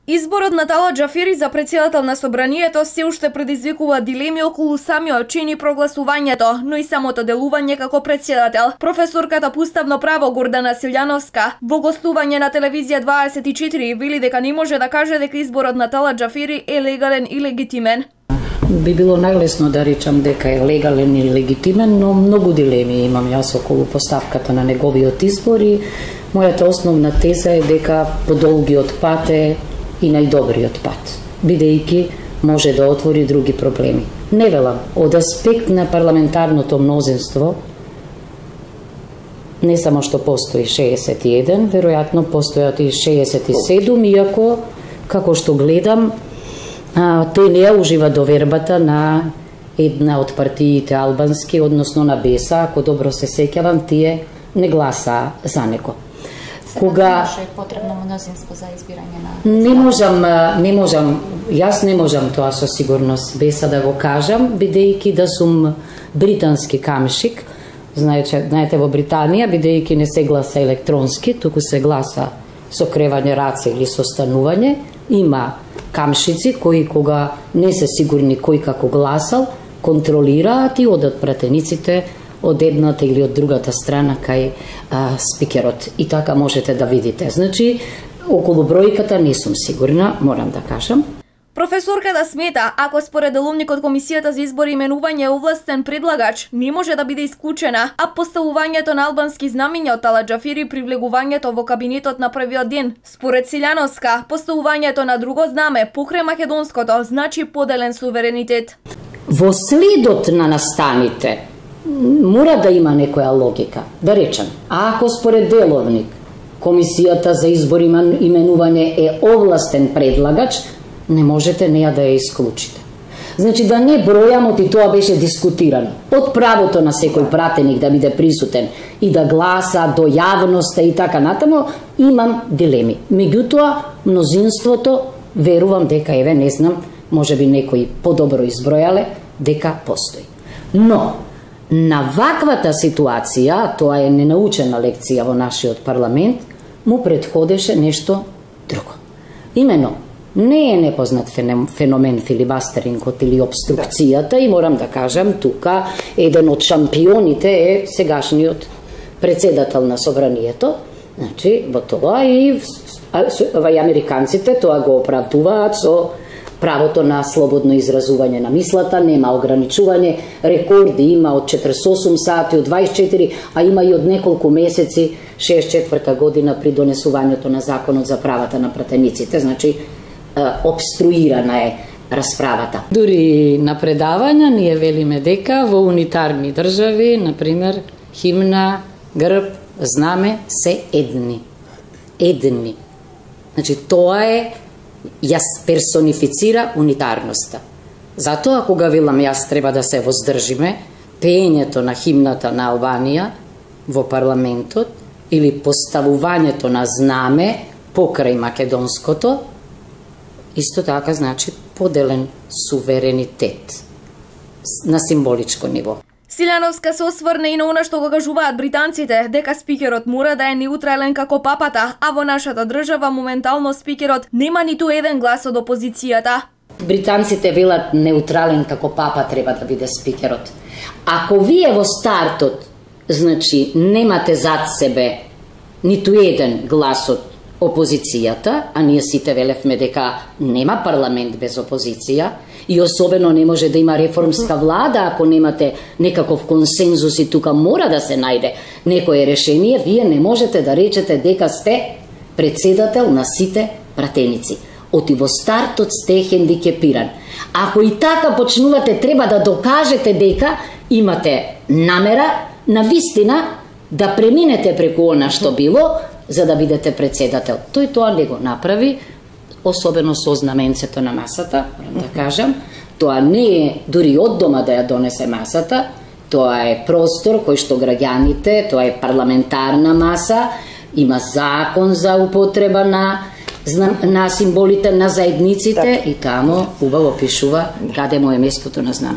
Изборот на Талат Џафери за претседател на собранието се уште предизвикува дилеми околу самиот чин и прогласувањето, но и самото делување како претседател. Професорката по уставно право Гордана Силјановска во гостување на телевизија 24 вели дека не може да каже дека изборот на Талат Џафери е легален и легитимен. Би било најлесно да речам дека е легален и легитимен, но многу дилеми имам јас околу поставката на неговиот избор и мојата основна теза е дека подолгиот пат е и најдобриот пат, бидејќи може да отвори други проблеми. Не велам, од аспект на парламентарното мнозинство, не само што постои 61, веројатно постојат и 67, иако, како што гледам, тој не ја ужива довербата на една од партиите албански, односно на Беса, ако добро се сеќавам, тие не гласаа за него. Кога е потребно мнозинство за избирање на не можам, јас не можам тоа со сигурност Беса да го кажам, бидејќи да сум британски камшик. Знаете во Британија, бидејќи не се гласа електронски, туку се гласа со кревање раце или со станување, има камшици кои кога не се сигурни кој како гласал, контролираат и одат пратениците од едната или од другата страна кај спикерот. И така можете да видите. Значи, околу бројката не сум сигурна, морам да кажам. Професорката смета, ако според деловникот Комисијата за избор и именување е овластен предлагач, не може да биде исклучена, а поставувањето на албански знамиња од Талат Џафери при влегувањето во кабинетот на првиот ден. Според Силјановска, поставувањето на друго знаме покрај македонското значи поделен суверенитет. Во следот на настаните мора да има некоја логика. Да речем, ако според деловник Комисијата за избор и именување е овластен предлагач, не можете неја да ја исклучите. Значи да не бројам, и тоа беше дискутирано. Од правото на секој пратеник да биде присутен и да гласа до јавноста и така натаму, имам дилеми. Меѓутоа, мнозинството, верувам дека, еве, не знам, може би некои подобро избројале, дека постои. Но, на ваквата ситуација, тоа е ненаучена лекција во нашиот парламент, му предходеше нешто друго. Имено, не е непознат феномен филибастерингот или обструкцијата и морам да кажам, тука еден од шампионите е сегашниот претседател на собранието, значи, во тоа и американците тоа го оправдуваат со правото на слободно изразување на мислата, нема ограничување, рекорди има од 48 сати, од 24, а има и од неколку месеци, 64 година при донесувањето на законот за правата на пратениците, значи обструирана е расправата. Дури на предавања ние велиме дека во унитарни држави, например, химна, грб, знаме се едни. Едни. Значи тоа е, јас персонифицира унитарноста. Затоа кога велам јас треба да се воздржиме, пеењето на химната на Албанија во парламентот или поставувањето на знаме покрај македонското, исто така значи поделен суверенитет на символичко ниво. Силјановска се осврне и на она што го кажуваат британците, дека спикерот мора да е неутрален како папата, а во нашата држава моментално спикерот нема ниту еден глас од опозицијата. Британците велат неутрален како папа треба да биде спикерот. Ако вие во стартот, значи, немате зад себе ниту еден глас од опозицијата, а ние сите велевме дека нема парламент без опозиција и особено не може да има реформска влада ако немате некаков консензус и тука мора да се најде некое решение, вие не можете да речете дека сте претседател на сите пратеници. Оти во стартот сте хендикепиран. Ако и така почнувате, треба да докажете дека имате намера на вистина да преминете преку она што било, за да бидете претседател. Тој тоа не го направи, особено со знаменцето на масата, морам да кажам. Тоа не е дури од дома да ја донесе масата, тоа е простор кој што граѓаните, тоа е парламентарна маса, има закон за употреба на символите на заедниците и тамо убаво пишува каде му е местото на знамето.